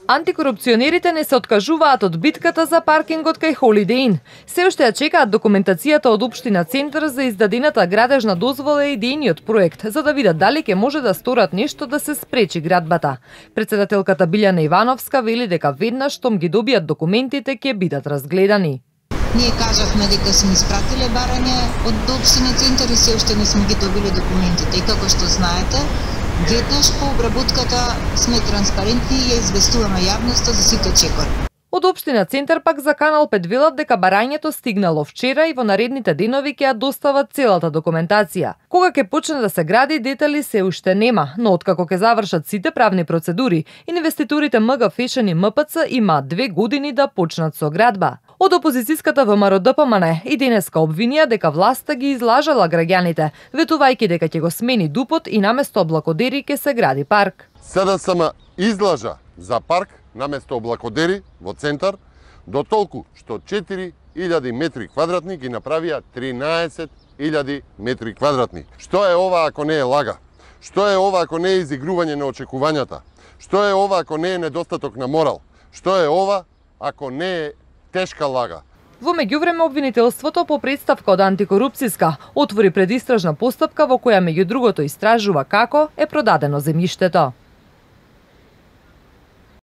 Антикорупционерите не се откажуваат од битката за паркингот кај Holiday Inn. Се уште ја чекаат документацијата од Општина Центар за издадената градежна дозвола и идејниот проект, за да видат дали ќе може да сторат нешто да се спречи градбата. Председателката Билјана Ивановска вели дека веднаш штом ги добијат документите ќе бидат разгледани. Ние кажавме дека сме испратиле барање од Општина Центар и се уште не сме ги добили документите. И како што знаете, веднаш по обработката сме транспарентни и ја известуваме јавноста за сите чекори. Од Општина Центар пак за Канал 5 велат дека барањето стигнало вчера и во наредните денови ќе ја достават целата документација. Кога ќе почне да се гради, детали се уште нема, но откако ќе завршат сите правни процедури, инвеститорите МГ Фешен и МПЦ имаат 2 години да почнат со градба. Од опозицијската ВМРО-ДПМН и денеска обвинија дека власта ги излажала граѓаните, ветувајќи дека ќе го смени ДУП-от и наместо облакодери ќе се гради парк. СДСМ излажа за парк наместо облакодери во Центар, до толку што 4000 метри квадратни ги направија 13.000 метри квадратни. Што е ова ако не е лага? Што е ова ако не е изигрување на очекувањата? Што е ова ако не е недостаток на морал? Што е ова ако не е тешка лага? Во меѓувреме обвинителството по претставка од антикорупцијска отвори предистражна постапка во која меѓу другото истражува како е продадено земјиштето.